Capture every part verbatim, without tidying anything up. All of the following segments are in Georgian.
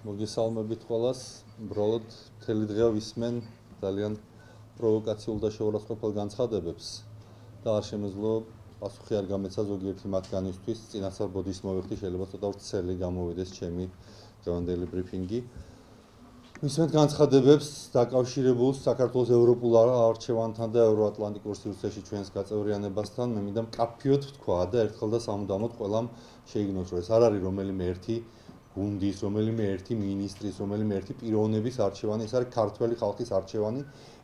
მოგესალმებით ყველას. უბრალოდ მთელი დღე ვისმენ ძალიან პროვოკაციულ და შეურაცხყოფელ განცხადებებს და არ შემეძლო პასუხი არ გამეცა ზოგიერთი მათგანისთვის. წინასწარ ბოდის მოვიხდი, შეიძლება ცოტა ვრცელი გამოვიდეს ჩემი დღევანდელი ბრიფინგი. ვისმენთ განცხადებებს დაკავშირებულ საქართველოს ევროპულ არჩევანთან და ევროატლანტიკურ სივრცეში ჩვენს გაწევრიანებასთან. მე მინდა მკაფიოდ ვთქვა და ერთხელ და სამუდამოდ ყველამ შეიგნოს, რომ ეს არ არის რომელიმე ერთი გუნდის, რომელიმე ერთი მინისტრის, რომელიმე ერთი პიროვნების არჩევანი, ეს არის ქართველი ხალხის არჩევანი.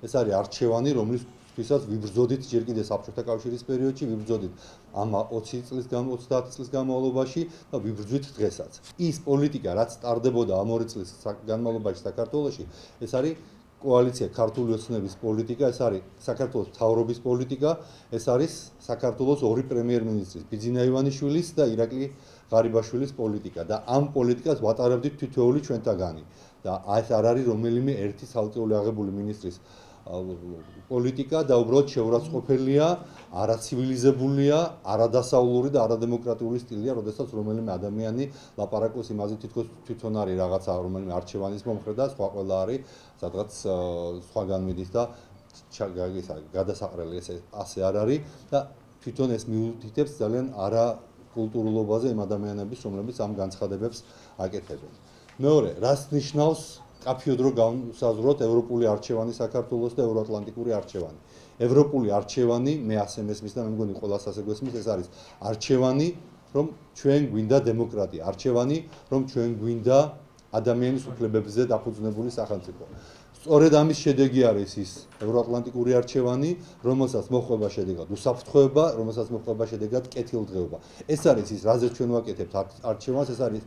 ეს არის არჩევანი, რომლისთვისაც ვიბრძოდით ჯერ კიდევ საბჭოთა კავშირის პერიოდში, ვიბრძოდით ამ ოცი წლის გამ ოცდაათი წლის განმავლობაში და ვიბრძვით დღესაც. ის პოლიტიკა, რაც ტარდებოდა ამ ორი წლის განმავლობაში საქართველოში, ეს არის კოალიცია ქართული ოცნების პოლიტიკა, ეს არის საქართველოს მთავრობის პოლიტიკა, ეს არის საქართველოს ორი პრემიერ-მინისტრის, ბიძინა ივანიშვილის და ირაკლი ღარიბაშვილის პოლიტიკა და ამ პოლიტიკას ვატარებდით თითოეული ჩვენთაგანი და ეს არ არის რომელიმე ერთი ცალკეული აღებული მინისტრის პოლიტიკა და უბრალოდ შეურაცხყოფელია, არაცივილიზებულია, არადასავლური და არადემოკრატიული სტილია, როდესაც რომელიმე ადამიანი ლაპარაკობს იმაზე, თითქოს თვითონ არის რაღაცა რომელიმე არჩევანის მომხრე და სხვა ყველა არის სადღაც სხვაგან მიდის და გადასაყრელი ეს ასე არ არის და თვითონ ეს მიუთითებს ძალიან არა კულტურულობაზე იმ ადამიანების, რომლებიც ამ განცხადებებს აკეთებენ. მეორე, რას ნიშნავს კაფიოდ რო გავსაზღვროთ ევროპული არჩევანი საქართველოს და ევროატლანტიკური არჩევანი. ევროპული არჩევანი, მე ასე მესმის და მე მგონი ყველას ასე გვესმის, ეს არის არჩევანი, რომ ჩვენ გვინდა დემოკრატია, არჩევანი, რომ ჩვენ გვინდა ადამიანის უფლებებზე დაფუძნებული სახელმწიფო. სწორედ ამის შედეგი არის ის ევროატლანტიკური არჩევანი, რომელსაც მოხვება შედეგად უსაფრთხოება, რომელსაც მოხვება შედეგად კეთილდღეობა. ეს არის ის, რაზეც ჩვენ ვაკეთებთ არჩევანს, ეს არის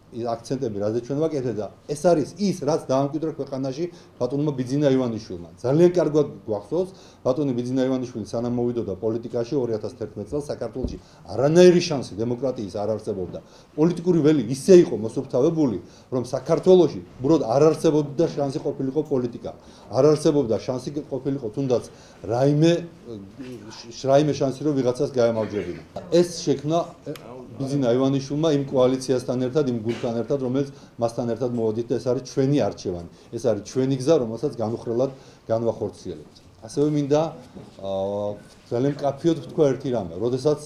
აქცენტები, რაზეც ჩვენ ვაკეთებთ და ეს არის ის, რაც დაამკვიდრა ქვეყანაში ბატონმა ბიძინა ივანიშვილმა. ძალიან კარგად გვახსოვს, ბატონი ბიძინა ივანიშვილი სანამ მოვიდოდა პოლიტიკაში ორი ათას თერთმეტ წელს საქართველოში არანაირი შანსი დემოკრატიის არ არსებობდა. პოლიტიკური ველი ისე იყო მოსუფთავებული, რომ საქართველოში უბრალოდ არ არსებობდა შანსი ყოფილიყო პოლიტიკა. არ არსებობდა შანსი ყოფილიყო თუნდაც რაიმე რაიმე შანსი რომ ვიღაცას გაემარჯვებინა. ეს შექმნა ბიძინა ივანიშვილმა იმ კოალიციასთან ერთად, იმ გუნდთან ერთად, რომელიც მასთან ერთად მოვედით და ეს არის ჩვენი არჩევანი. ეს არის ჩვენი გზა, რომელსაც განუხრელად განვახორციელებთ. ასევე მინდა ძალიან მკაფიოდ ვთქვა ერთი რამე, როდესაც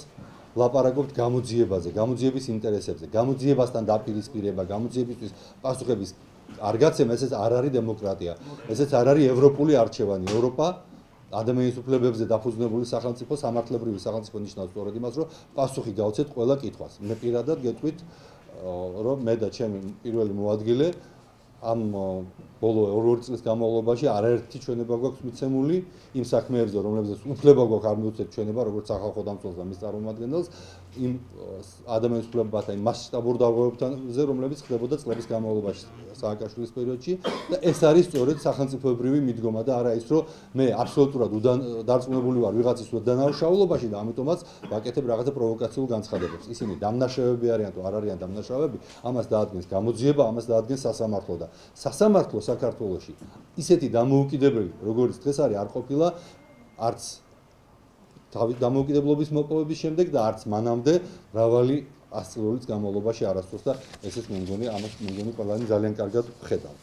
ლაპარაკობთ გამოძიებაზე, გამოძიების ინტერესებზე, გამოძიებასთან დაპირისპირება, გამოძიებისთვის პასუხების არ გაცემა, ესეც არ არის დემოკრატია. ესეც არ არის ევროპული არჩევანი. ევროპა ადამიანის უფლებებზე დაფუძნებული სახელმწიფო, სამართლებრივი სახელმწიფო ნიშნავს სწორედ იმას, რომ პასუხი გავცეთ ყველა კითხვას. მე პირადად გეტყვით, რომ მე და ჩემი პირველი მოადგილე ამ ბოლო ორი წლის განმავლობაში არაერთი ჩვენება გვაქვს მიცემული იმ საქმეებზე, რომლებზეც უფლება გვაქვს არ მივუწევთ ჩვენება, როგორც სახალხო დამცველს და მის წარმომადგენელს, იმ ადამიანის უფლებათა იმ მასშტაბურ დარღვევებებზე, რომლებიც ხდებოდა წლების განმავლობაში სააკაშვილის პერიოდში და ეს არის სწორედ სახელმწიფოებრივი მიდგომა და არა ის, რომ მე აბსოლუტურად დარწმუნებული ვარ ვიღაცის უდანაშაულობაში და ამიტომაც ვაკეთებ რაღაცა პროვოკაციულ განცხადებებს. ისინი დამნაშავეები არიან თუ არ არიან დამნაშავეები, ამას დაადგენს გამოძიება, ამას დაადგენს სასამართლო და სასამართლო საქართველოში ისეთი დამოუკიდებელი, როგორც დღეს არის, არ ყოფილა არც თავის დამოუკიდებლობის მოპოვების შემდეგ და არც მანამდე მრავალი ასწლეულის განმავლობაში არასდროს და ესეც მე მგონი ამას მე მგონი ყველანი ძალიან კარგად ხედავთ.